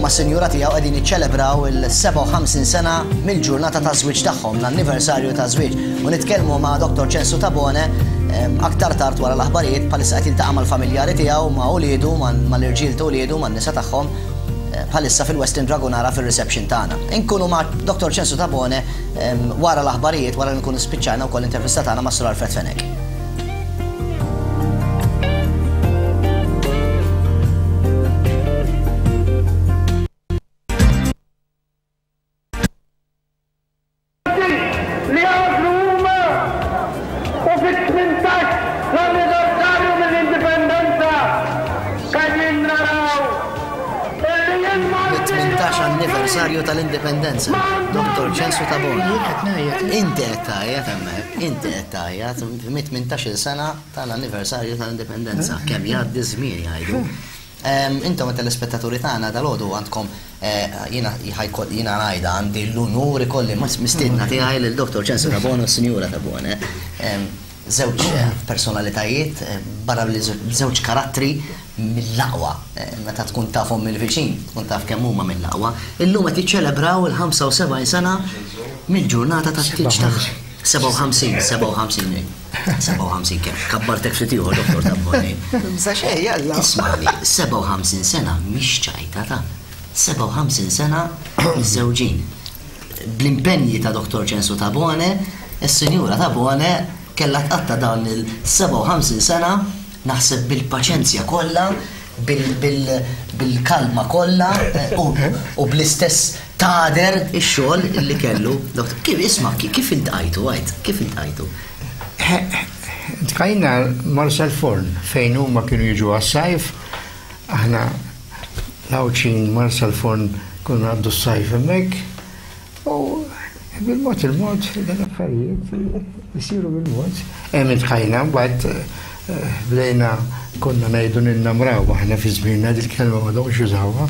mas-sinjura tiegħu qegħdin jiċċelebraw il-57 sena mill-ġurnata taż-żwieġ tagħhom, l-anniversarju taż-żwieġ. U nitkellmu ma' Dottor Ċensu Tabone aktar tard wara l-aħbarijiet bħalissa qed jiltaqa' mal-familjari tiegħu, ma' uliedu, mal-irġiel ta' uliedu, man-nisa tagħhom bħalissa fil-Westin Dragunara fir-reception tagħna. Inkunu ma' Dottor Ċensu Tabone wara l-aħbarijiet wara li nkunu spiċċajna wkoll l-intervista tagħna ma' Sur Alfred Fenech. Li għażlu huma u fit-18 l-anniversarju mill-Indipendenza qegħdin naraw illi il-Maltin Fit-18 anniversarju tal-Indipendenza, Dottor Ċensu Tabone. Jien qed ngħajjat. Inti qed tgħajjat hemmhekk, inti qed tgħajjat mit-18-il sena tal-anniversarju tal-Indipendenza. Kemm jgħaddi ż-żmien jgħidu. Intom it-telespettaturi tagħna dalgħodu għandkom jiena jiena ngħidha għandi l-unur ikolli mistiedna tiegħi lil Dottor Ċensu Tabone u s-Sinjura Tabone. Żewġ personalitajiet barra li żewġ karattri mill-aqwa. Meta tkun tafhom mill-viċin, tkun taf kemm huma mill-aqwa. Illum qed jiċċelebraw il-75 sena mill-ġurnata tat-tieġ tagħhom. 57, 57. 57 kemm? Kabbartek ftit ieħor, Dottor Tabboni. Bża xejn, jalla. Ismagħni, 57 sena mhix ċajta ta' 57 sena miżżewġin. Bl-impenji ta' Dottor Ċensu Tabone, is-Sinjura Tabone kellha tqatta' dawn il-57 sena naħseb bil-paċenzja kollha, bil-kalma kollha u bl-istess tagħder ix-xogħol li kellu. Kif isma' kif iltqajtu għid, kif iltqajtu? Iltqajna Marsalforn fejn huma kienu jiġu għas-sajf, aħna l-Għawdxin Marsalforn konna ngħaddu s-sajf hemmhekk. U bil-mod il-mod dan l-affarijiet isiru bil-mod. Hemm intħajna mbagħad eh, bdejna konna ngħidu ninnamraw aħna fi żmienna dil-kelma ma domx jużawha.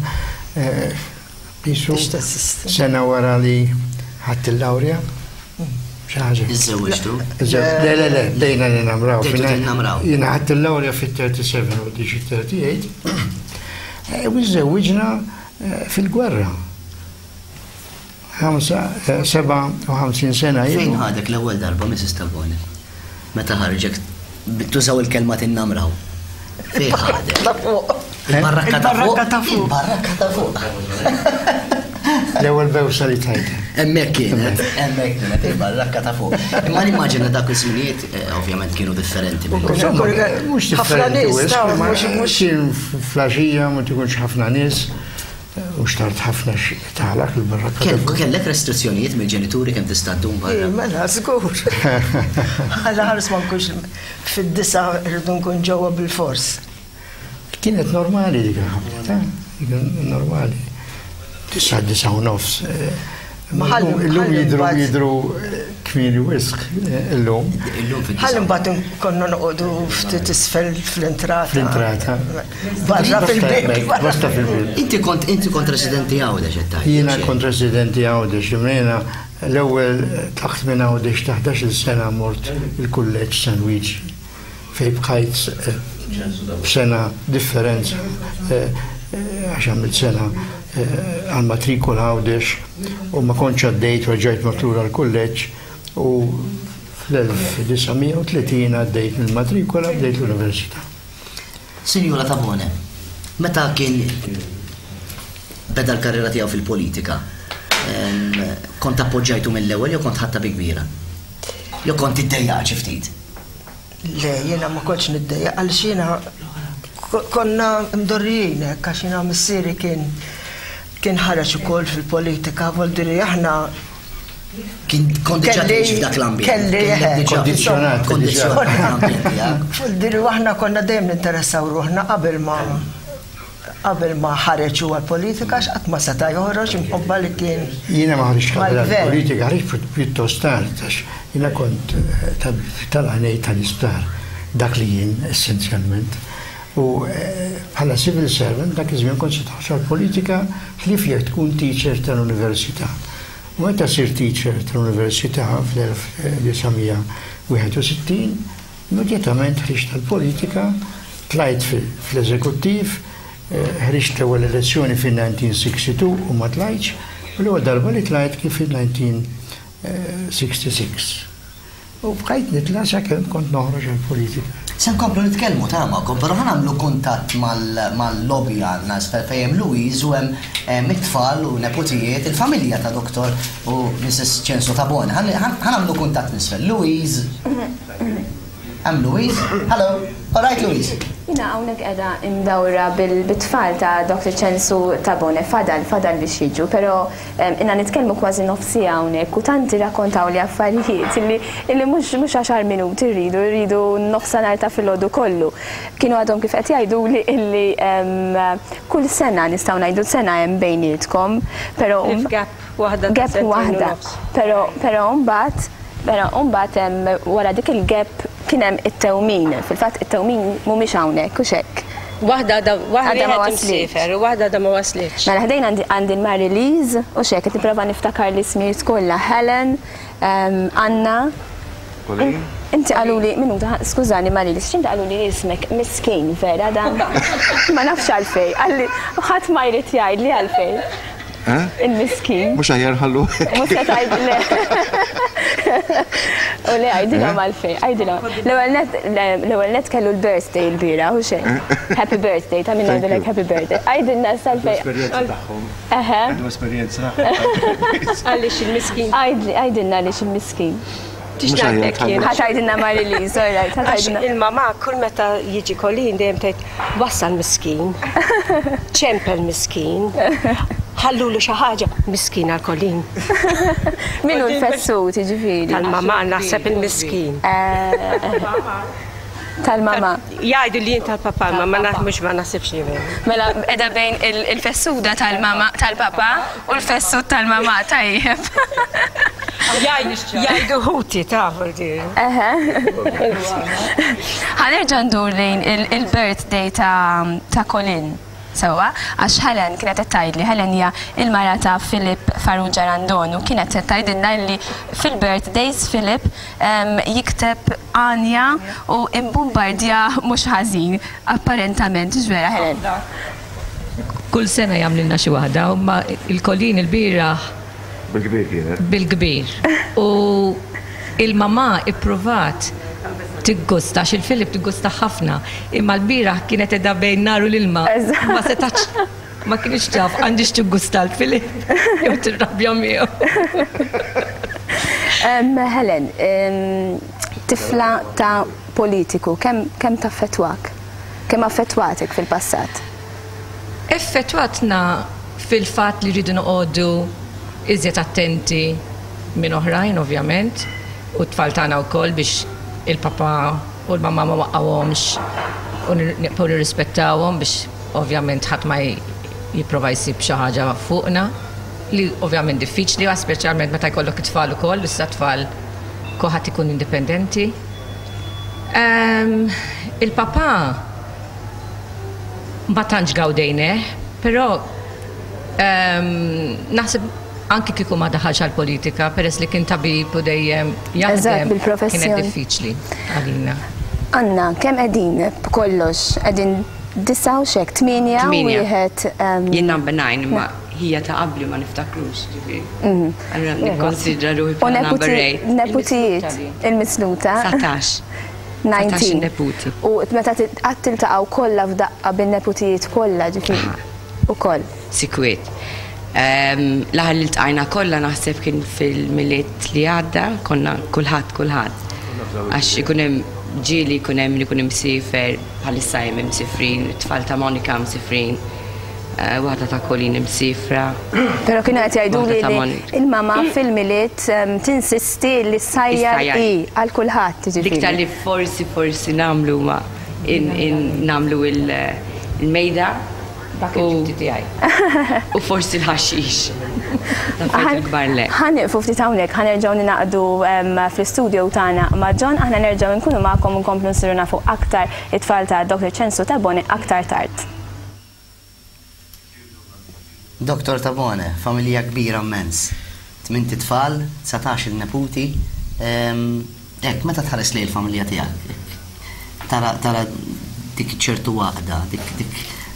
Eh, Qisu sena wara li ħadt il-lawrja. Xi ħaġa. Iżżewwiġtu? Le, le, le, bdejna ninnamraw. Bdejtu Jiena ħadt il-lawrja fit-37 u diġi 38. Eh, u żewwiġna fil-gwerra. 57 sena ilu. Fejn ħadek l-ewwel darba Mrs. Tabone? Meta ħarġek tużaw il-kelma tinnamraw. Fejn ħadek? Ta' fuq. Il-barrakka ta' fuq. Il-barrakka ta' fuq. L-ewwel bewsa li tajt. Hemmhekk kienet, hemmhekk kienet il-barrakka ta' fuq. Imma nimmaġina dak iż-żminijiet eh, ovvjament kienu differenti. Mhux differenti, mhux kien flaxija ma tkunx ħafna nies. U xtart ħafna tagħlaq il-barrakka. Kellek restrizzjonijiet mill-ġenituri kemm tista' ddum barra? Ej, mela, żgur. Alla ħares ma nkunx fid-disa rridu nkun ġewwa bil-fors. Kienet normali dik il-ħabta, ta' normali. Disa, disa u nofs. Illum jidru jidru kmieni wisq illum. Ħalli mbagħad konna noqogħdu ftit isfel fl-intrata. Fl-intrata. Barra fil-bib. Basta fil-bib. Inti kont inti kont residenti Għawdex qed tgħid. Jiena kont residenti Għawdex, jiena l-ewwel tlaqt minn Għawdex ta' 11-il sena mort il-kulleġġ San Luigi. fejn bqajt b'sena differenza għax għamilt sena għall-matrikola Għawdex u ma kontx għaddejt u rġajt mort lura l-kulleġġ u fl-1930 għaddejt mill-matrikola bdejt l-università. Sinjura Tabone, meta kien beda l-karriera tiegħu fil-politika, kont appoġġajtu mill-ewwel jew kont ħadtha bi kbira? Jew kont iddejjaqt xi ftit? Le, jiena ma kontx niddejjaq għaliex jiena konna mdorrijin hekk għax jiena missieri kien kien ħareġ ukoll fil-politika, vuol dire aħna Kien kont diġà tgħix f'dak l-ambjent. Kelli Kellek diġà Kondizzjonat, kondizzjonat l-ambjent tiegħek. Vuol dire aħna konna dejjem ninteressaw ruħna qabel ma Qabel ma ħareġ hu għall-politika għax qatt ma seta' joħroġ imħabba li kien. Jiena ma ħriġtx qabel għall-politika, ħriġt pjuttost tard għax jiena kont tabib tal-għajnejn tal-isptar, dak li jien essenzjalment. U bħala civil servant dak iż-żmien kont se toħroġ għall-politika ħlief jekk tkun teacher tal-università. U meta sirt teacher tal-università fl-1961, Immedjatament ħriġt għall-politika, tlajt fl-eżekuttiv. Ħriġt l-ewwel elezzjoni fin-1962 u ma tlajtx, u l-ewwel darba li tlajt kien fin-1966. U bqajt nitla' sakemm kont noħroġ għall-politika. Se nkomplu nitkellmu ta' magħkom, però ħa nagħmlu kuntatt mal-lobby għandna isfel fejn hemm Louise u hemm it-tfal u neputijiet, il-familja ta' Dottor u Mrs. Ċensu Tabone. Ħa nagħmlu kuntatt m'isfel. Louise. Hemm Louise? Hello. All right Louise. Jiena hawnhekk qiegħda imdawra bit-tfal ta' Dr. Ċensu Tabone, fadal, fadal biex jiġu, però ilna nitkellmu kważi nofs siegħa hawnhekk u tant irrakkontawli affarijiet illi illi mhux mhux għaxar minuti rridu, rridu nofsanhar ta' filgħodu kollu. Kienu għadhom kif qed jgħiduli illi kull sena nistgħu ngħidu sena hemm bejnietkom, però Gap waħda ta' Gap sentejn u waħda. nofs. Però però mbagħad però mbagħad hemm wara dik il-gap kien hemm it-tewmin. Fil-fatt it-tewmin mhumiex hawnhekk hux hekk? Waħda għadha Għadha ma wieħed waslitx. imsiefer u waħda għadha ma waslitx. Mela ħdejn għandi għandi l-Mary Lise u x'hekk qed nipprova niftakar l-ismijiet kollha. Helen, Anna. Colleen. Inti qaluli, minuta, skużani Mary Lise, x'inti qaluli li ismek miskin vera dan? Ma nafx għalfejn, qalli ħadd ma jrid jgħidli għalfejn. Il-miskin. Mhux aħjar nħallu hekk. Mhux se tgħid le. U le għidilhom għalfejn, għidilhom. L-ewwel nett l-ewwel nett kellu l-birthday il-bieraħ u xejn. Happy birthday, ta' min ngħidilek happy birthday. Għidilna issa għalfejn. Esperjenza tagħhom. Eħe. Għandu esperjenza. Għaliex il-miskin. Għidli, għidilna għaliex il-miskin. Tix ngħidlek jien. Ħa tgħidilna Marie-Lise, all right, ħa tgħidilna. Għax il-mamà kull meta jiġi Colleen dejjem tgħid wassal miskin, ċempel miskin, ħallulu xi ħaġa, miskin għal Colleen. Min hu l-fessut, jiġifieri? Tal-mamà naħseb il-miskin. Tal-mamà. Jgħidu li jien tal-papà, imma ma naf mhux ma naħsibx li veru. Mela qiegħda bejn il-fessuda tal-mamà tal-papà u l-fessud tal-mamà, tajjeb. Jgħidu ħuti taf dir. Eħe. Ħa nerġa' ndur lejn il-birthday ta' Colin. Sewwa, għax Helen kienet qed tgħidli, Helen hija l-mara ta' Philip Farrugia Randon u kienet qed tgħidilna illi fil-birthdays Philip jikteb għanja u imbumbardjah mhux ħażin, apparentament, hux vera Helen? Kull sena jagħmlilna xi waħda, imma il-Colleen ilbieraħ Bil-kbir kienet. Bil-kbir. U il-mamà ippruvat tiggusta, għax il-Philip tiggustah ħafna, imma l-bieraħ kienet qiegħda bejn nar u l-ilma. Ma setgħetx, ma kinitx taf għandhiex tiggusta l-Philip jew tirrabja miegħu. Helen, tifla ta' politiku, kemm taffettwak? Kemm affettwatek fil-passat? Effettwatna fil-fatt li rridu noqogħdu iżjed attenti minn oħrajn ovvjament u t-tfal tagħna wkoll biex il-papà u l-mamà ma waqqgħuhomx u nibqgħu nirrispettawhom biex ovvjament ħadd ma jipprova jsib xi ħaġa fuqna li ovvjament diffiċli speċjalment meta jkollok it-tfal ukoll, issa t-tfal kulħadd ikun indipendenti. Il-papà Ma tantx gawdejnih, però naħseb anki kieku ma daħalx għall-politika peress li kien tabib u dejjem jaħdem kienet diffiċli għalina. Anna, kemm qegħdin b'kollox? Qegħdin disgħa u x'hekk, tmienja u wieħed. Jien number nine imma ħija ta' qabli ma niftakrux, ġifieri. Allura nikkonsidra ruħi bħala number eight. U neputijiet, il-misluta. 19. 19. neputi. U meta qatt tiltaqgħu kollha f'daqqa bin-neputijiet kollha ġifieri ukoll. Sikwit. L-aħħar li ltqajna kollha naħseb kien fil-Milied li għadda, konna kulħadd kulħadd. Għax ikun hemm ġieli jkun hemm min ikun imsiefer, bħalissa hemm imsifrin, it-tfal ta' Monica msifrin. Waħda ta' Colleen imsiefra. Però kienu qed jgħiduli li il-mama fil-Milied tinsisti li ssajjar hi għal kulħadd, jiġifieri. L-iktar li forsi forsi nagħmlu huma nagħmlu l-mejda. Dak il-duty tiegħi. U forsi l-ħaxix. L-affarijiet il-kbar le. Ħa nieqfu ftit hawnhekk, ħa nerġgħu ningħaqdu fl-istudio tagħna ma' John, aħna nerġgħu nkunu magħkom u nkomplu nsiru nafu aktar it-tfal ta' Dr. Ċensu Tabone aktar tard. Dottor Tabone, familja kbira mmens. Tmint itfal, 19 il neputi. Hekk, meta tħares lejn il-familja tiegħek, hekk, tara tara dik ċertu għaqda, dik dik.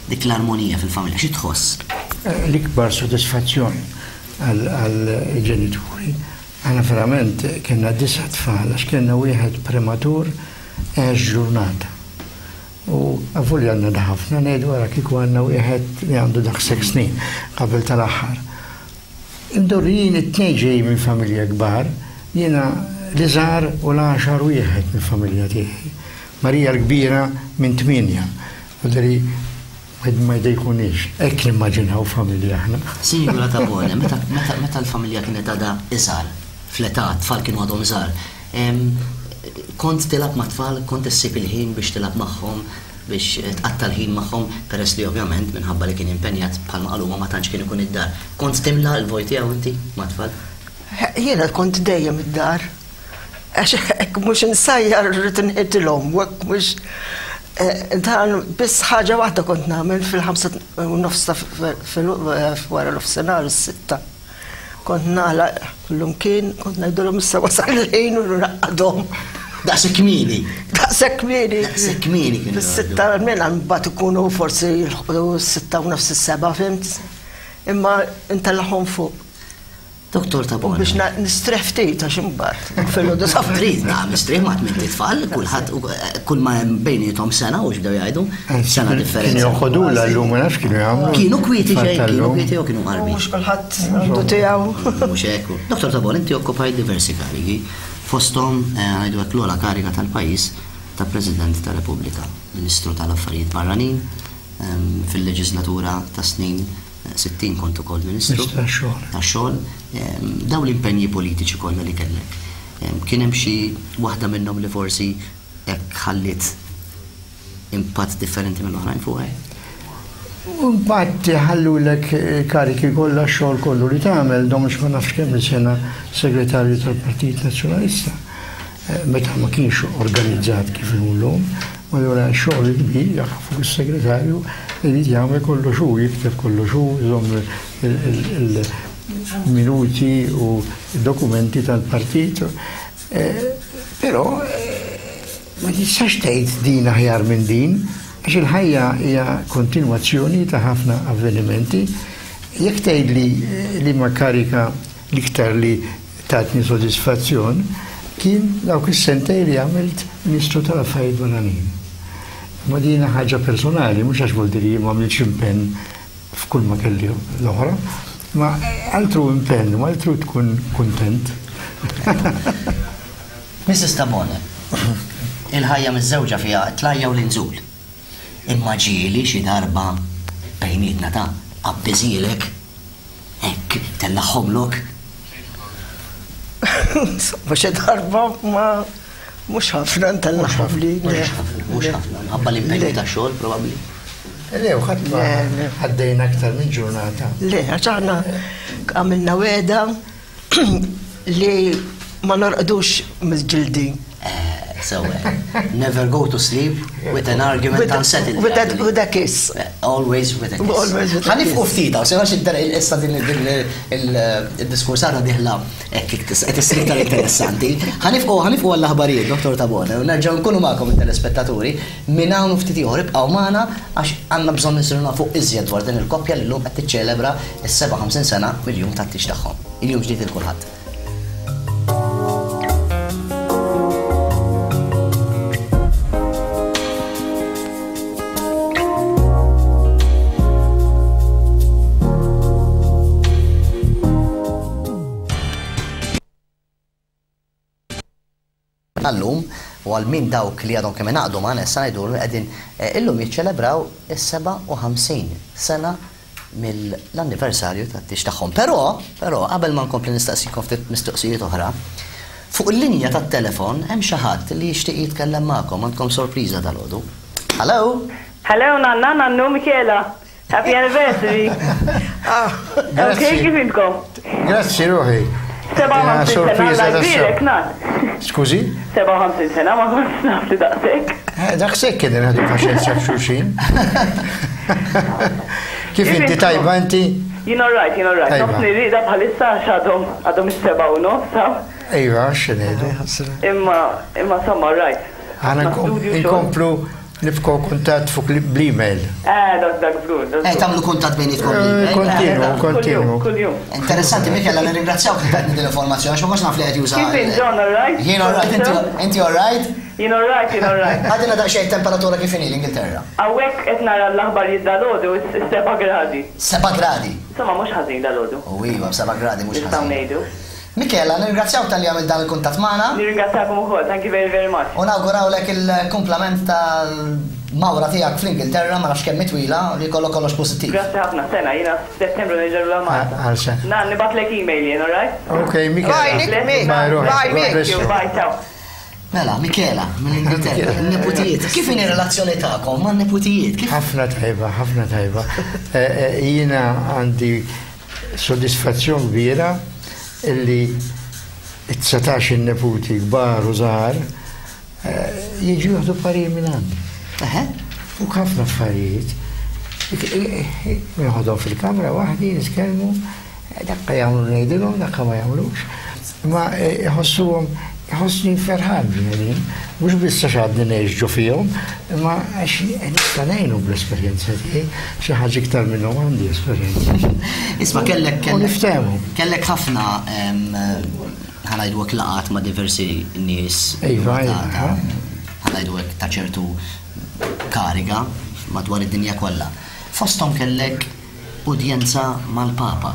dik l-armonija fil-familja, xi tħoss? L-ikbar sodisfazzjon għall-ġenituri. Aħna verament kellna disa' tfal għax kellna wieħed prematur għex ġurnata. U avolja għandna da ħafna ngħidu ara kieku għandna wieħed li għandu daqshekk snin qabel tal-aħħar. Imdorrijin it-tnejn ġejjin minn familja kbar, jiena l-iżgħar u l-għaxar wieħed mill-familja tiegħi. Marija l-kbira minn tmienja. Vuol wieħed ma jdejkunix. Hekk nimmaġinaw familja aħna. Sinjura Tabone, meta meta l-familja kienet għadha iżgħar, fl-età, t-tfal kienu għadhom żgħar, kont tilgħab mat-tfal, kont issib il-ħin biex tilgħab magħhom, biex tqatta' l-ħin magħhom, peress li ovvjament minħabba li kien impenjat bħalma qalu huma ma tantx kien ikun id-dar. Kont timla l-vojt tiegħu inti mat-tfal? Jiena kont dejjem id-dar. Għax hekk mhux insajjar rrid inħitilhom, u hekk mhux eh, dan biss ħaġa waħda kont nagħmel fil-ħamsa u nofs ta' wara nofsinhar is-sitta. Kont nagħlaq kullumkien, kont ngħidulhom issa wasal il-ħin u nraqqadhom. Daqshekk kmieni. Daqshekk kmieni. Daqshekk kmieni kienu. Fis-sitta mela mbagħad ikunu forsi jilħqu s-sitta u nofs is-seba' fimt. Imma intellagħhom fuq. Dottor Tabone. Biex nistrieħ ftit għax imbagħad filgħodu sa Trid na mistrieħ ma' tmint itfal, kulħadd kull ma hemm bejniethom sena u x'bdew jgħidu, sena differenza. Kienu joħodulha llum ma nafx kienu jagħmlu. Kienu kwieti xejn, kienu kwieti jew kienu qarbi. Mhux kulħadd għandu tiegħu. Mhux hekk. Dottor Tabone, inti okkupajt diversi karigi, fosthom ngħidu hekk l-ogħla kariga tal-pajjiż ta' President ta' Repubblika, Ministru tal-Affarijiet Barranin fil-leġiżlatura tas-snin 60 kont ukoll Ministru tax-Xogħol. Dawn l-impenji politiċi kollha li kellek, kien hemm xi waħda minnhom li forsi hekk ħalliet impatt differenti mill-oħrajn fuqek? Impatt iħallulek il-kariki kollha, x-xogħol kollu li tagħmel, domx ma nafx kemm-il sena segretarju tal-Partit Nazzjonalista. Meta ma kienx organizzat kif inhu llum, u allura x-xogħol il-kbir jaqa' fuq is-segretarju li jrid jagħmel kollox hu, jikteb kollox hu, iżomm il-minuti u d-dokumenti tal-partit. Però ma tistax tgħid din aħjar minn din, għax il-ħajja hija kontinwazzjoni ta' ħafna avvenimenti. Jekk tgħidli liema karika l-iktar li tatni sodisfazzjon kien dawk is-sentejn li għamilt Ministru tal-Affarijiet Barranin. Imma din hija ħaġa personali, mhux għax vuol dire jien m'għamiltx impenn f'kull ma kelli l-oħra, imma altru impenn u altru tkun kuntent. Mrs. Tabone, il-ħajja miżżewġa fiha t-tlajja u l-inżul. Imma ġieli xi darba bejnietna ta' qabbiżielek Hekk tellagħhomlok? Insomma, xi darba ma mhux ħafna ntellagħhomli. Mhux ħafna, mhux ħafna, minħabba l-impenju tax-xogħol probabbli. Le, u ħadd ma għaddejna aktar minn ġurnata. Le, għax aħna għamilna wegħda li ma norqdux mill-ġildin. Eh, sewa. Never go to sleep with an argument unsettled. With a, with a kiss. Eh, always with a kiss. Always with a kiss. Ħanifqu ftit, għaw, sena xidder issa din il-diskursata diħla hekk qed issir iktar interessanti. Ħanifqu ħanifqu għall-aħbarijiet, Dottor Tabone, u nerġgħu nkunu magħkom it-telespettaturi minn hawn u ftit ieħor ibqgħu magħna għax għandna bżonn insiru nafu iżjed dwar din il-koppja li llum qed tiċċelebra s-57 sena mill-jum tat-tieġ tagħhom. Il-jum ġdid il kulħadd. Għallum, u għal min dawk li għadhom kemm ingħaqdu magħna issa ngħidulhom li qegħdin eh, illum jiċċelebraw is-57 sena mill-anniversarju tat-tieġ tagħhom. Però, però, qabel ma nkompli nistaqsikom ftit mistoqsijiet oħra, fuq il-linja tat-telefon hemm xi ħadd li jixtieq jitkellem magħkom, għandkom sorpriża dalgħodu. Hello? Hello nanna, nannu Michela. Happy anniversary. Ah, Ok, kif intkom? Grazzi ruħi. 57 sena, Alla jbierek, nan. Skużi? 57 sena, ma kontx naf li daqshekk. Eh, daqshekk kien ħadu paċenzja f'xulxin. Kif inti tajba inti? Jien alright, jien alright. Nofs nirrida bħalissa għax għadhom għadhom is-seba' u nofs. Iva, x'ngħidu. Imma imma somma alright. Aħna nkomplu. Nibqgħu kuntatt fuq bl-email. Eh, dak dak żgur. Eh, tagħmlu kuntatt bejnietkom bl-email. Eh, kontinu, kontinu. Kuljum. Interessanti, Michela, nirringrazzjawk li tajtni din l-informazzjoni, għax ma kontx naf li qed juża. Kif int, John, all right? Jien all right, inti all right? Jien all right, jien all right. Għadilna daqsxejn temperatura kif inhi l-Ingilterra. Hawnhekk qed nara l-aħbarijiet dalgħodu is-seba' gradi. Seba' gradi? Insomma mhux ħażin dalgħodu. U iva, b'seba' gradi mhux ħażin. Nistgħu ngħidu. Michela, nirringrazzjawk talli għamilt dan il-kuntatt magħna. Nirringrazzjakom ukoll, thank you very very much. U nawgurawlek il-kumplament tal-mawra tiegħek fl-Ingilterra, ma nafx kemm hi twila, li jkollok kollox pożittiv. Grazzi ħafna, sena, jiena f'Settembru nerġa' lura Malta. Għal sena. Na, nibgħatlek email jien, alright? Ok, Michela. Bye, Nick, Mick. Bye, Roy. Bye, God Mick. bless you. Bye, ciao. Mela, Michela, mill-Ingilterra, il-neputijiet. Kif inhi r-relazzjoni tagħkom man-neputijiet? Kif Ħafna tajba, ħafna tajba. Eh, eh, Jiena għandi sodisfazzjon kbira illi it-19 il-neputi kbar u żgħar eh, jiġu jieħdu parir minn għandi. U ħafna affarijiet. Nieħodhom fil-kamra waħdi, nitkellmu, dakka jagħmlu ngħidilhom, dakka ma jagħmlux. Ma eh, jħossuhom jħossni ferħan b'jien, mhux biss għax għadni ngħix ġo fihom, imma għax nista' ngħinu bl-esperjenza tiegħi, xi ħaġa iktar minnhom għandi esperjenza. Isma' kellek U kellek niftehmu. kellek ħafna em, ħa ngħidu hekk laqgħat ma' diversi nies Iva, ta' iva, ta' ħa ngħidu hekk ta' ċertu kariga madwar id-dinja kollha. Fosthom kellek udjenza mal-Papa.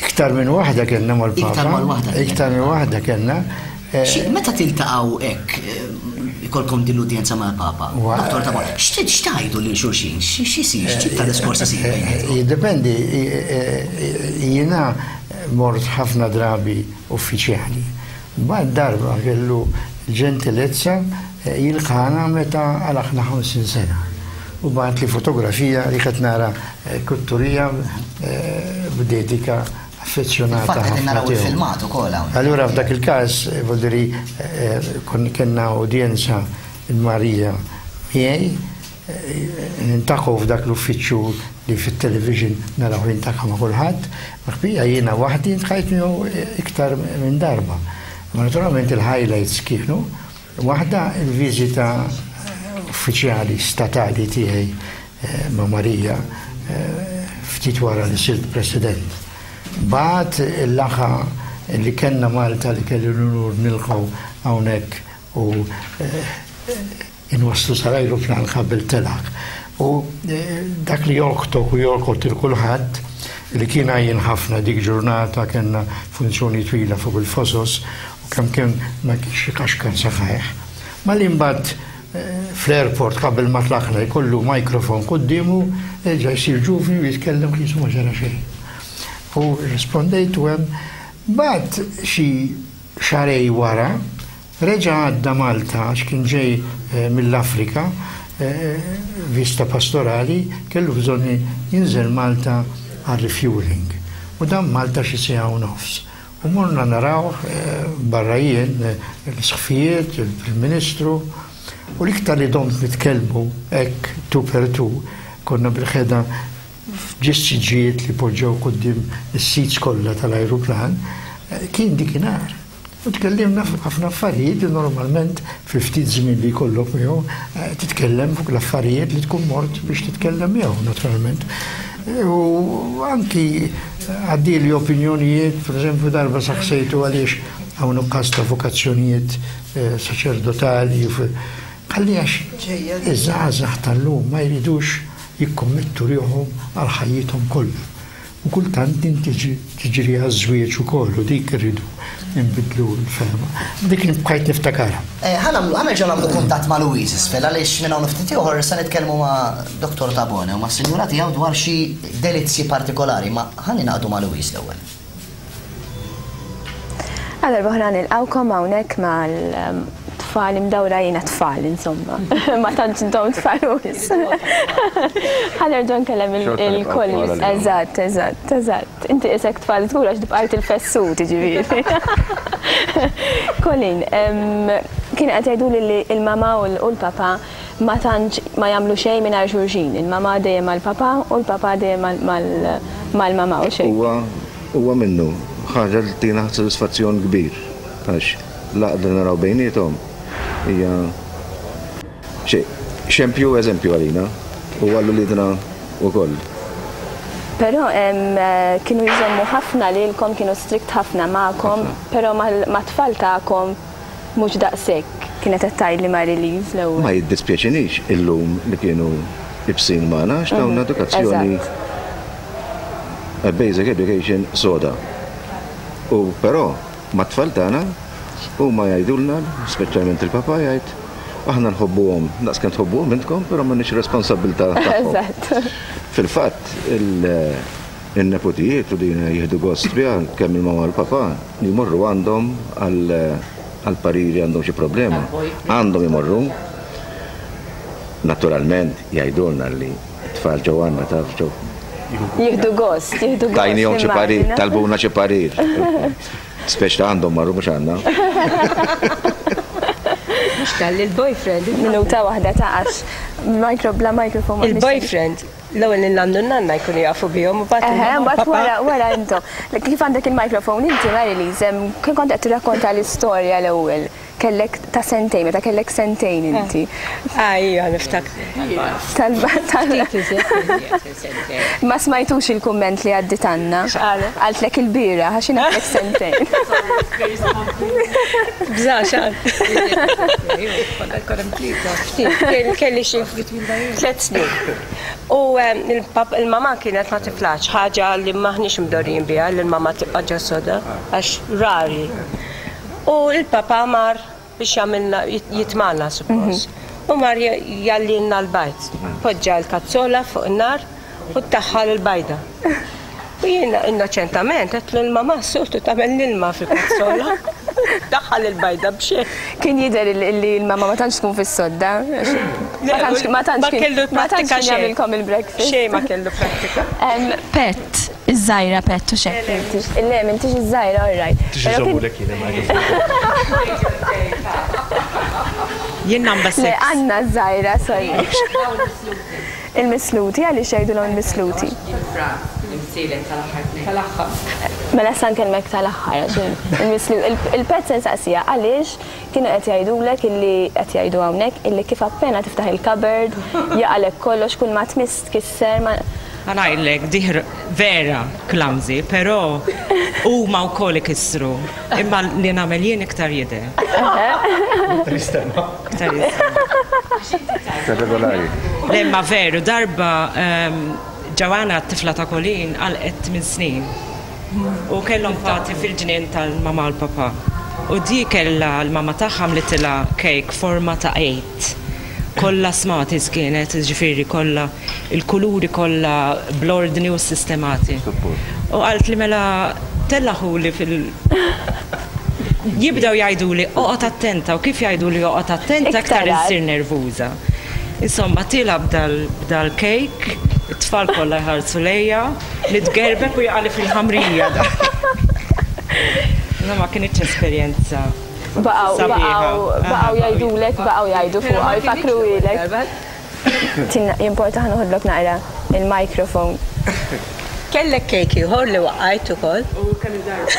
Iktar minn waħda kellna mal-Papa. Iktar mal waħda kellna. Iktar minn waħda kellna. Eh, Xi- Meta tiltaqgħu hekk eh, ikolkom din l-udjenza mal-Papa? Dottor Tabone, x'ti- x'tgħidu lil xulxin? Xi xi jsir? X'tip ta' diskors isir bejnietkom? Jiddependi, jiena mort ħafna drabi uffiċjali. Mbagħad darba kellu ġentilezza jilqana meta għalaqna 50 sena. U bagħatli fotografija li qed nara kutturija b'dedika affezzjonata. Infatti qegħdin ħafna naraw tiegħu. il-filmat ukoll hawn. Allura f'dak il-każ, vuol dire, kon kellna udjenza il-Marija miegħi, nintaqgħu f'dak l-uffiċċju li fit-television naraw jintaqa' ma' kulħadd, ma ħbija jiena waħdi ntqajt miegħu iktar minn darba. Ma naturalment il-highlights kienu waħda il-viżita uffiċjali statali tiegħi ma' Marija ftit wara li sirt president. Bagħad il-laqgħa li kellna Malta li kelli l-unur nilqgħu hawnhekk u inwasslu sal-ajruplan qabel telaq. U dak li jolqtok u jolqot il kulħadd li kien għajjien ħafna dik ġurnata kellna funzjoni twila fuq il-fosos u kemm kemm ma kienx ikaxkar saqajh. Ma li mbagħad fl-airport qabel ma tlaqna jkollu mikrofon quddiemu, erġa' jsir ġuvni u jitkellem qisu ma ġara xejn. U rrispondejt u hemm mbagħad xi xahrejn wara reġa' għadda Malta għax kien ġej mill-Afrika vista pastorali kellu bżonn jinżel Malta għar-refueling. U dam Malta xi siegħa u nofs. U morna narawh barra jien, l-Isqfijiet, il-Prim Ministru, u l-iktar li domt nitkellmu hekk tu per tu, konna bil-ħeda f'ġissiġijiet li poġġew quddiem is-seats kollha tal-ajruplan, kien dikinhar. U tkellimna fuq ħafna affarijiet li normalment fil-ftit żmien li jkollok miegħu titkellem fuq l-affarijiet li tkun mort biex titkellem miegħu naturalment. U anki għaddieli opinjonijiet, per eżempju darba saqsejtu għaliex hawn nuqqas ta' vokazzjonijiet saċerdotali. Qalli għax iż-żgħażagħ tal-lum ma jridux jikkommettu ruħhom għal ħajjithom kollha. U kultant din tiġi tiġri għaż-żwieġ ukoll u dik irridu nbiddlu l-fehma. Dik li bqajt niftakarha. Ħa nagħmlu, ħa nerġgħu nagħmlu kuntatt ma' Louise isfel għaliex minn hawn u ftit ieħor se nitkellmu ma' Dottor Tabone u mas-sinjura tiegħu dwar xi delizzji partikolari, ma ħa ningħaqdu ma' Louise l-ewwel. Għal darb'oħra nilqgħukom hawnhekk mal-tfal imdawra jiena tfal insomma. Ma tantx intom tfal wis. Ħa nerġa' nkellem il-colleagues. Eżatt, eżatt, eżatt. Inti qisek tfal żgur għax tibqajt il-fessut jiġifieri. Colin, kien qed jgħiduli li l-mamà u l-papà ma tantx ma jagħmlu xejn mingħajr xulxin. Il-mamà dejjem mal-papà u l-papà dejjem mal-mamà u xejn. Huwa huwa minnu, ħaġa li ttina sodisfazzjon kbir għax l-għaqda li naraw bejniethom hija xi Xempju eżempju għalina u għal uliedna wkoll. Però kienu jżommu ħafna lilkom, kienu strict ħafna magħkom, però mat-tfal tagħkom mhux daqshekk, kienet qed tgħidli Marie-Lise l-ewwel. Ma jiddispjaċinix illum li kienu ibsin magħna għax tawna edukazzjoni a basic education soda. U però mat-tfal tagħna huma jgħidulna, speċjalment il-papa jgħid, aħna nħobbuhom daqs kemm tħobbuhom intkom, però m'għandniex responsabbiltà tagħhom. Fil-fatt, in-neputijiet u din jieħdu gost biha kemm il-mama u l-papa li jmorru għandhom għal pariri għandhom xi problema. Għandhom imorru. Naturalment jgħidulna li t-tfal ġew għandna taf ġew. Jieħdu gost, jieħdu gost. Tajnihom xi parir, talbuna xi parir. Speċi ta' għandhom marru mhux għandna. Mhux tal il-boyfriend. Minuta waħda ta' għax micro bla microphone. Il-boyfriend l-ewwel il-nannu nanna jkunu jafu bihom u mbagħad. Eħe, mbagħad wara wara intom. Kif għandek il-microphone inti Marilise, kien kont qed tirrakkonta l-istorja l-ewwel. Kellek ta' sentejn, meta kellek sentejn inti. Ah, ija, niftakar. Tal Ma smajtux il-kumment li għaddit Anna. X'qalet? Qaltlek il-bieraħ għax jien għedtlek sentejn. Bżax għal. Kelli xi tliet snin. U il-mama kienet ma tiflax, ħaġa li m'aħniex mdorrijin biha li l-mama tibqa' ġo soda għax rari. U l-papa mar biex jagħmilna jitmagħna suppost. U mar jgħallilna l-bajd. Poġġa l-kazzola fuq in-nar u daħħal il-bajda. U jiena innoċentament għedtlu l-mamà s-soltu tagħmel l-ilma fil-kazzola. Daħħal il-bajda b'xejn. Kien jidher li l-mamà ma tantx tkun fis-sodda. Ma tantx kellu ma tantx kien jagħmilkom il-breakfast. Xejn ma kellu prattika. Pet, iż-żgħira Pet u x'hekk inti. Le, m'intix iż-żgħira, all right. Tix iżommulek jien il-microphone. Jien number 6. Le, Anna ż-żgħira, sorry. Il-misluti, għaliex jgħidulhom il-misluti? Mela issa nkellmek tal-aħħar għax il-Pet se nsaqsiha għaliex kienu qed jgħidulek illi qed jgħidu hawnhekk illi kif appena tiftaħ il-cupboard jaqalek kollox kull ma tmiss tkisser ma Ħa ngħidlek, diħr vera clumsy, però huma wkoll ikissru. Imma li nagħmel jien iktar jidher. Iktar jistenna. Iktar jistenna. Iktar regolari. Le imma veru, darba Joanna t-tifla ta' Colleen għalqet tmien snin. U kellhom party fil-ġnien tal-mama u l-papa. U di kellha l-mama tagħha għamlitilha cake forma ta' għid. Kollha smatis kienet, jiġifieri kollha il-kuluri kollha bl-ordni u sistemati. U qaltli mela tellgħuli fil Jibdew jgħiduli oqgħod attenta u kif jgħiduli oqgħod attenta iktar insir nervuża. Insomma tilgħa b'dal-cake, it-tfal kollha jħarsu lejja, nitgerbeb u jaqali fil-ħamrija. No ma kinitx esperjenza. Baqgħu baqgħu baqgħu jgħidulek, baqgħu jgħidu fuqha, jfakkruhielek. Tina, jimporta ħa noħodlok naqra il-microphone. Kellek kejk ieħor li waqqajt ukoll. U kemm il-darba.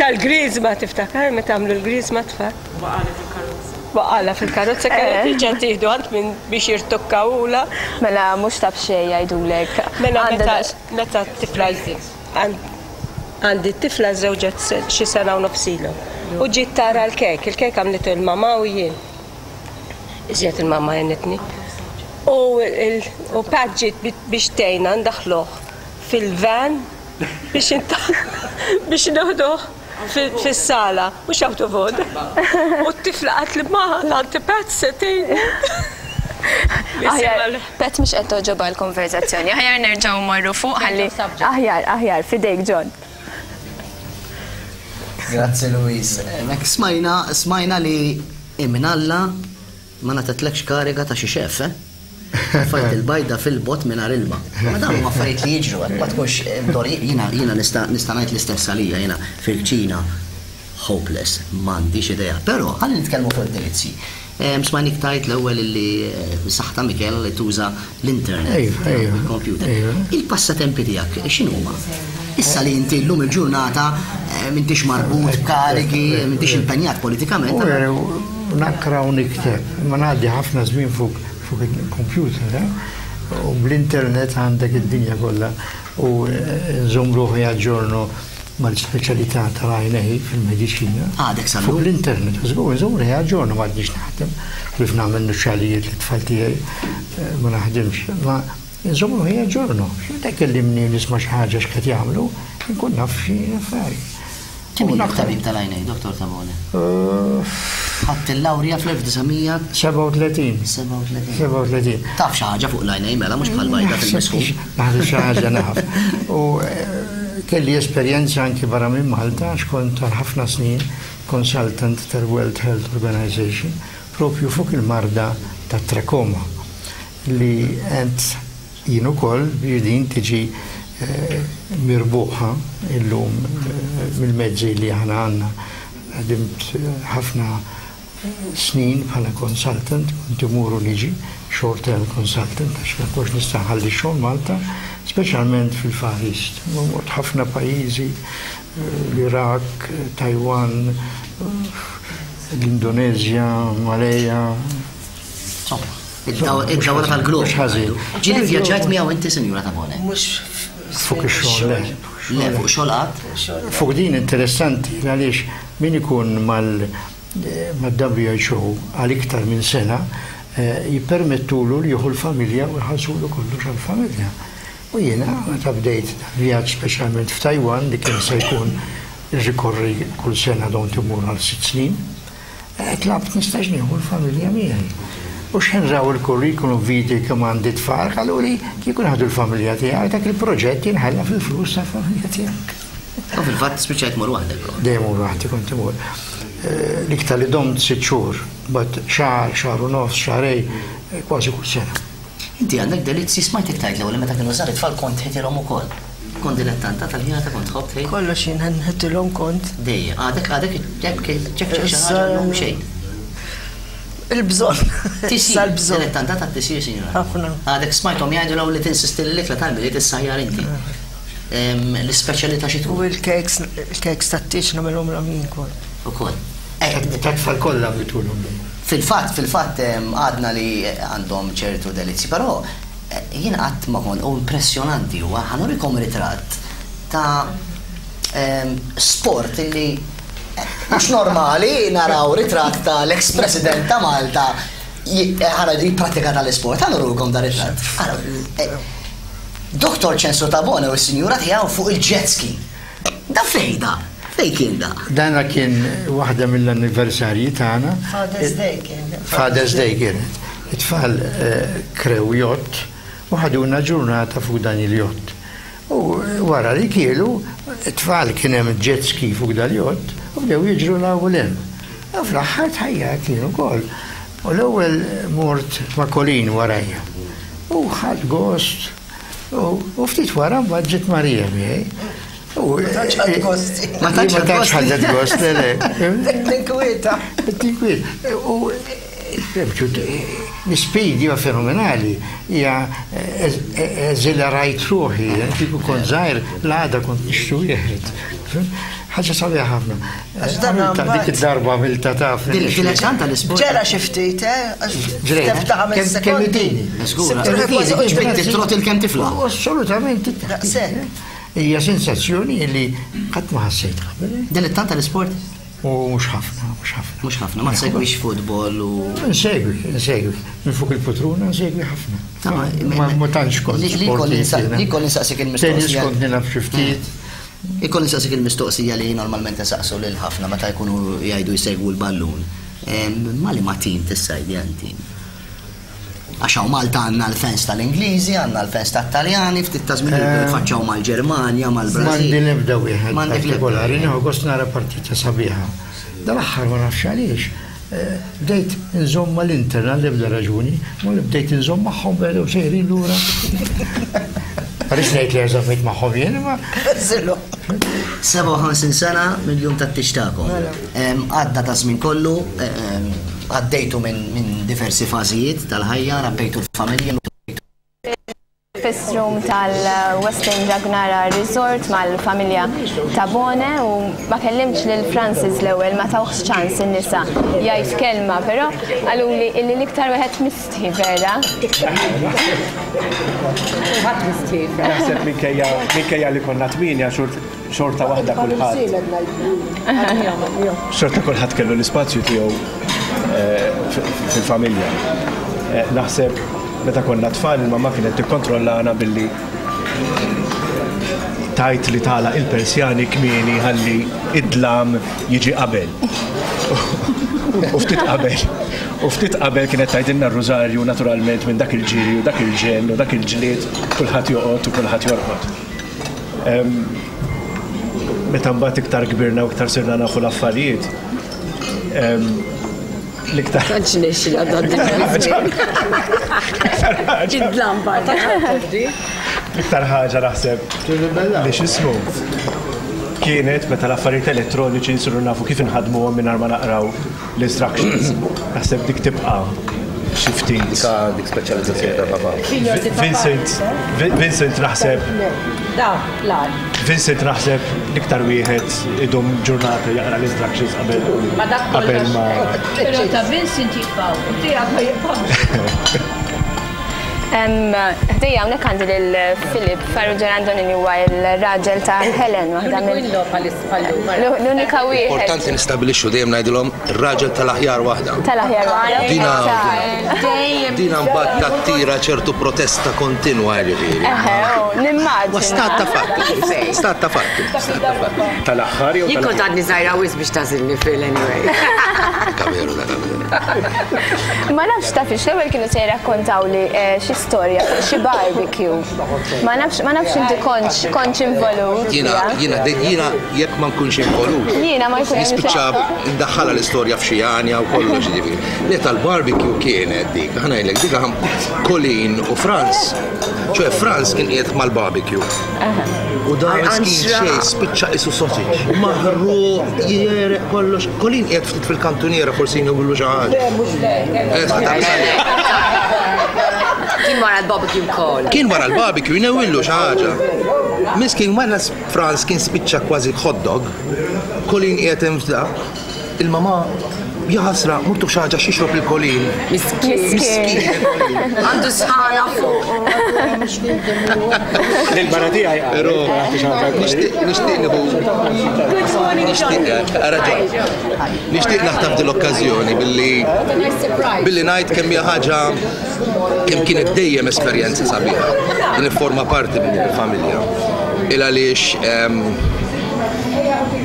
Tal-griżma tiftakar meta għamlu l-griżma tfal? Waqgħali fil-karozza. Waqgħalha fil-karozza kellha terġa' tieħdu għand min biex jirtukkawulha. Mela mhux ta' b'xejn jgħidulek. Mela meta meta t-tifla għandi t-tifla żżewġet xi sena u nofs ilu. U ġiet tara l-kejk, il-kejk għamlitu l-mamà u jien. Iżjed il-mamma għenitni. U u Pat ġiet biex tgħinna ndaħħluh fil-van biex biex noħduh fis-sala, mhux out of order. U t-tifla qaltli ma l-Auntie Pat se tgħinni. Aħjar, Pat mhux qed togħġobha l-konverżazzjoni. Aħjar nerġgħu mmorru fuq ħalli. Aħjar, aħjar, f'idejk John. Grazzi Louise. Mek smajna, smajna li Imnalla ma ngħatatlekx kariga ta' xi chef, eh? Tfajt il-bajda fil-bott mingħajr ilma. Ma dawn huma affarijiet li jiġru, hekk ma tkunx imdorri. Jiena jiena nista' nista' ngħid l-istess għalija, jiena fil-kċina hopeless, m'għandix idea. Però ħalli nitkellmu fuq id-delizzji. Smajnik tgħid l-ewwel illi bis-saħħa ta' Michela li tuża l-internet, il-computer. Il-passatempi tiegħek x'inhuma? Issa li inti llum il-ġurnata m'intix marbut b'karigi, m'intix impenjat politikament. Naqra u nikteb, imma ngħaddi ħafna żmien fuq. fuq il-computer, eh? U bl-internet għandek id-dinja kollha u nżomm ruħi aġġorno mal-speċjalità tal-għajnej fil-mediċina. Għadek sal Fuq l-internet, żgur, nżomm ruħi aġġorno m'għadniex naħdem, kif nagħmel nuċċalijiet lit-tfal tiegħi eh, ma naħdimx. Ma nżomm ruħi aġġorno. Meta jkellimni nisma' xi ħaġa x'qed jagħmlu, nkun naf xi affarijiet. Kemm ilek tabib tal-għajnejn, Dottor Tabone? Ħadt il-lawrja fl-1937. 37. 37. Taf xi ħaġa fuq l-għajnejn mela mhux bħal bajda fil-misħun. Naħseb xi ħaġa naf. U kelli esperjenza anki barra minn Malta għax kont għal ħafna snin consultant tal-World Health Organization propju fuq il-marda tat-trakoma li għent Jien ukoll biex din tiġi mirbuħa illum mill-mezzi li aħna għandna. Ħdimt ħafna snin bħala consultant, kont imur u niġi, short term consultant, għax ma kontx nista' nħalli x-xogħol Malta, speċjalment fil-Far East. Mort ħafna pajjiżi, l-Iraq, Taiwan, l-Indoneżja, Malaya. Insomma. Id-dawra tal-glob. Mhux ħażin. Ġieli vvjaġġajt miegħu inti, Sinjura Tabone? Mhux fuq ix-xogħol, le. Le, fuq xogħol qatt? Fuq din interessanti għaliex min ikun mal-WHO għal iktar minn sena jippermettulu li jieħu l-familja u jħallsulu kollox għall-familja. U jiena meta bdejt vjaġġ speċjalment f'Taiwan li kien se jkun irrikorri kull sena dont imur għal sitt snin, Tlabt nistax nieħu l-familja miegħi. U x'ħin raw il-curriculum vitae kemm għandi tfal, qaluli kieku nieħdu l-familja tiegħek dak il-proġett jinħalla fil-flus tal-familja tiegħek. U fil-fatt spiċċajt tmur waħdek. Dejjem mur waħdi kont imur. L-iktar li domt sitt xhur, mbagħad xahar, xahar u nofs, xahrejn, kważi kull sena. Inti għandek delizzji, smajtek tgħid l-ewwel li meta kienu żgħar it-tfal kont tħitilhom ukoll. Kont dilettanta tal-ħjata kont tħobb tħit? Kollox jien nħitilhom kont. Dejjem. Għadek għadek ċekk ċekk xi ħaġa llum xejn. Il-bżonn. Tisir. Dilettanta tat-tisir, sinjura. Ħafna. Għadek smajthom jgħidu l-ewwel li tinsisti li l-ikla tal-Milied issajjar inti. L-ispeċjalità xi tkun? U l-cakes, il-cakes tat-tieġ nagħmilhomlhom jien kont. Ukoll. Tat-tfal kollha għamiltulhom dejjem. Fil-fatt, fil-fatt għadna li għandhom ċertu delizzji, però jien qatt ma kont, u impressjonanti huwa, ħa nurikom ritratt ta' sport li mhux normali naraw ritratt ta' l-ex President ta' Malta ħa ngħidu jipprattika tal-isport. Ħa nurikom dar ritratt. Dottor Ċensu Tabone u s-sinjura tiegħu fuq il-jet ski. Da fejn da? Fejn kien da? Dana kien waħda mill-anniversarji tagħna. Father's Day kien. Father's Day kienet. It-tfal krew jott u ħaduna ġurnata fuq dan il-jott. U wara li kielu, it-tfal kien hemm jet ski fuq dal-jott u bdew jiġru 'l hawn u 'l hemm. U fl-aħħar tħajjart jien ukoll. U l-ewwel mort ma' Colleen warajja. U ħadt gost. U ftit wara mbagħad ġiet Marija miegħi. Ma tantx ħadt gost. Ma tantx ħadet gost, le le. Tinkwieta. Tinkwieta. U l-speed hija fenomenali, hija eżilarajt ruħi, kieku kont żgħir l-għada kont nixtri wieħed. Ħaġa sabiħa ħafna. Għax dan Dik id-darba għamilta taf. Dilettanta l-isport. Ġera xi ftit, eh? Ġrejt. Ta' ħames sekondi. Kemm kemm tifla. Assolutament. Daqshekk. Hija sensazzjoni li qatt ma ħassejt qabel. Dilettanta l-isport? U mhux ħafna, mhux ħafna. Mhux ħafna, ma tsegwix futbol u. Nsegwi, nsegwi. Minn fuq il-putruna nsegwi ħafna. Ma tantx kont. Li kolli nsaqsik il-mistoqsija. Tennis kont nilgħab xi ftit. Ikolli nsaqsik il-mistoqsija li normalment insaqsu lil ħafna meta jkunu jgħidu jsegwu l-ballun. Ma' liema tim tissajdja inti? Għax hawn Malta għandna l-fans tal-Ingliżi, għandna l-fans tat-Taljani, ftit ta' żmien ilu tfaċċaw mal-Ġermanja, mal-Brażil. M'għandi l-ebda wieħed partikolari, nieħu gost nara partita sabiħa. Dal-aħħar ma nafx għaliex, Bdejt inżomm mal-Inter għall-ebda raġuni, ma li bdejt inżomm magħhom bdew sejrin lura. Ma rridx ngħid li żammejt magħhom jien imma. 57 sena mill-jum tat-tieġ tagħkom. Mela. Għadda ta' żmien kollu, għaddejtu minn diversi fażijiet tal-ħajja, rabbejtu l-familja. fil-breakfast room tal-Westin Dragnara Resort mal-familja Tabone u ma kellimtx lil Francis l-ewwel ma tawhx ċans in-nisa jgħid kelma, però qaluli illi l-iktar wieħed mistħi vera. Kulħadd mistħi. Naħseb minkejja minkejja li konna tmienja xorta waħda kulħadd. Xorta kulħadd kellu l-ispazju tiegħu eh, fil-familja. Eh, naħseb meta konna tfal il-mamma kienet tikkontrollana billi tajt li tala il-persjani kmieni ħalli id-dlam jiġi qabel. U ftit qabel. U ftit qabel kienet tgħidilna r-rużarju naturalment minn dak il-ġiri u dak il-ġenn u dak il-ġlied kulħadd joqgħod u kulħadd jorqod. Meta mbagħad iktar kbirna u iktar sirna nafu l-affarijiet, l-iktar. Tantx nexxi Id-dlam barra. L-iktar ħaġa naħseb li x'ismu kienet meta l-affarijiet elettroniċi nsiru nafu kif inħadmuhom mingħajr ma naqraw l-instructions. Naħseb dik tibqa' xi ftit. Dik dik speċjalizzazzjoni ta' papa. Vincent, Vincent naħseb. Vincent naħseb l-iktar wieħed idum ġurnata jaqra l-instructions qabel. Ma dak qabel ma. Però ta' Vincent jibqgħu u tiegħek ma jibqgħux. Ħdejja hawnhekk għandi lil Philip Farrugia Randoni li huwa l-raġel ta' Helen waħda minn L-unika wieħed. Importanti nistabilixxu dejjem ngħidilhom ir-raġel tal-aħjar waħda. Tal-aħjar waħda. Dina dina mbagħad tattira ċertu protesta kontinwa jiġifieri. Eħe, oh, nimmaġina. Ma stat ta' fatti. Stat ta' fatti. Stat ta' fatti. Tal-aħħar jew Jien kont għadni żgħira wisq biex tagħżilni Phil anyway. Dak veru, dak veru. Ma nafx taf l-ewwel kienu se jirrakkontawli eh, xi storja fuq xi barbecue. Ma nafx ma nafx inti kontx kontx involut. Jiena jiena jiena jekk ma nkunx involut. Jiena ma jkun Nispiċċa ndaħħalha l-istorja f'xi għanja u kollox ġifieri. Le tal-barbecue kienet dik, ħa ngħidlek dik Colin u Franz. ċoè Franz kien qiegħed mal-barbecue. U dan miskin xejn spiċċa qisu sausage. Maħruq, jegħreq kollox. Colin qiegħed ftit fil-kantuniera forsi jnewwillu xi ħaġa. Le, mhux le. Kien wara l-barbecue wkoll. Kien wara l-barbecue jnewwillu xi ħaġa. Miskin wara Franz kien spiċċa kważi hot dog. Colin qiegħed hemm f'da. Il-mamà, jaħasra, murtu xi ħaġa x'jixrob lil Colin. Miskin. Miskin. Għandu sħana fuq. Lil-mara tiegħi Però nixtieq nixtieq nieħu nixtieq ara ġo. Nixtieq naħtaf din l-okkażjoni billi billi ngħid kemm hija ħaġa kemm kienet dejjem esperjenza sabiħa li nifforma parti minn din il-familja. Il għaliex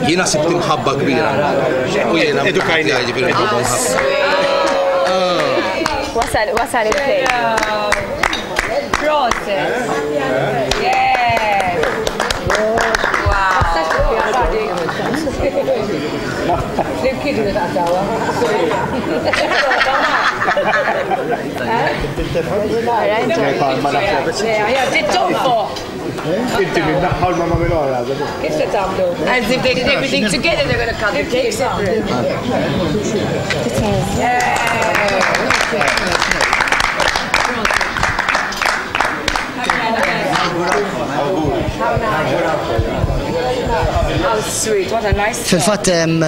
Jiena sibt imħabba kbira. U jiena Edukajna. Ġifieri nħobbhom ħafna. Wasal, wasal il-play. Proset. Yes. Wow. Flimkien nitqatawha. Tittonfoq. Inti minn naħa u l-mamma minn oħra. Kif se tagħmlu? As if they did everything together, they're gonna cut the cake separate. How sweet, what a nice. Fil-fatt Kemm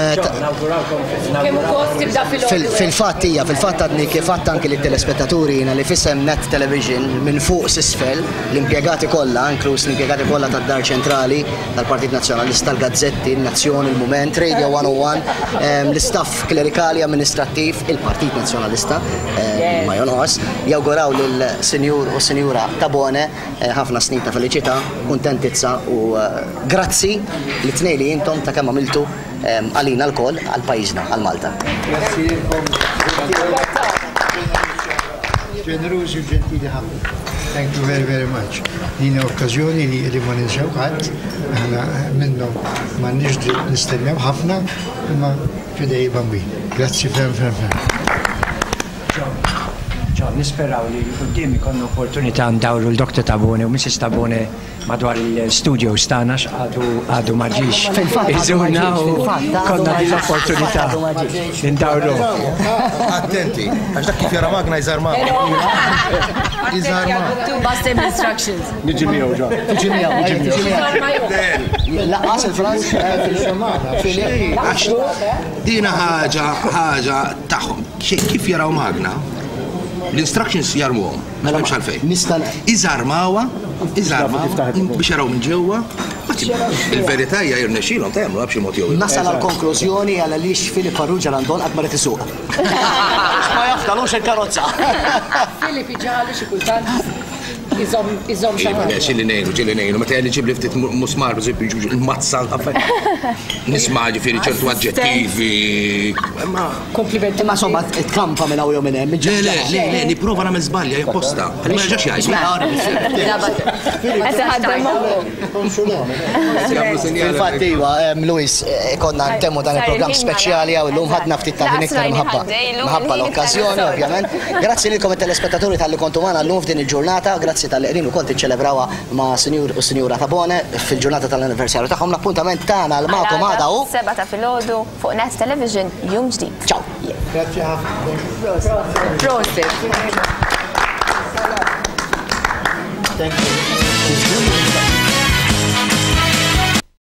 ukoll tibda fil Fil-fatt hija, fil-fatt għadni kif għadt anki lit-telespettaturi jiena li f'isem Net Television minn fuq s'isfel L-impjegati kollha, inkluż l-impjegati kollha tad-Dar Ċentrali, tal-Partit Nazzjonalista, l-gazzetti, in-Nazzjon, il-Mument, Radio 101, l-istaff klerikali, amministrattiv, il-Partit Nazzjonalista, ma jonqos, jawguraw lill-Sinjur u s-Sinjura Tabone ħafna snin ta' feliċità, kuntentizza u grazzi lit-tnejn li intom ta' kemm għamiltu għalina lkoll, għal pajjiżna, għal Malta. Grazzi lilkom. Ġenerużi u ġentili ħafna. Thank you very, very much. Din okkażjoni li li ma ninsew qatt, aħna minnhom m'għandniex dritt nistennew ħafna, imma f'idej il-Bambin. Grazzi ferm, ferm, ferm. John, nisperaw li 'l quddiem ikollna opportunità ndawru l-Dr. Tabone u Mrs. Tabone. madwar il-studios tagħna x'għadu għadu ma ġiex. Fil-fatt għadu ma Iżurna ġiex, u fil-fatt għadu konna ma din ġiex, l-opportunità għadu ma ġiex. ndawru. Attenti, għax dak kif jara magna jżarma. Jżarma. Bust instructions. Niġi miegħu ġo. Tiġi miegħu, tiġi miegħu. Laqqas il-Franz, Filip. Għax dina ħaġa ħaġa tagħhom. Kif jaraw magna, l-instructions jarmuhom. Mela mhux għalfejn. Nista' Iżarmawha, iżarmawha biex jaraw minn ġewwa. Il-verità hija jirnexxilhom ta' jagħmluha b'xi mod jew ieħor. Nasal għal konklużjoni għal għaliex Filip Farrugia Landon qatt ma rid isuq. Ma jafdalux il-karozza. Filip iġalu xi kultant iżomm iżomm xi Iva, le, ħaġa. xilli ngħinu, ġilli ngħinu, meta jgħalli ġibli ftit musmar, il-mazza, nisma' ġifieri ċertu aġġettivi. Ma Komplimenti. Imma somma tkampa minn hawn jew minn hemm. Le, le, le, le, nipprova nagħmel żbalja apposta. Ħalli ma jerġax jgħid. Qed iħaddem moħħu. Fil-fatt iva, Luis, konna ntemmu dan il-programm speċjali hawn illum ħadna ftit ta' ħin iktar mħabba. Mħabba l-okkażjoni, ovvjament. Grazzi lilkom it-telespettaturi talli kontu magħna llum f'din il-ġurnata, grazzi talli qegħdin ukoll tiċċelebrawha ma' Sinjur u Sinjura Tabone fil-ġurnata tal-anniversarju tagħhom. L-appuntament tagħna għal magħkom għada hu 7 ta' filgħodu fuq Net Television jum ġdid. Ciao. Grazzi ħafna. Prosit. Thank you.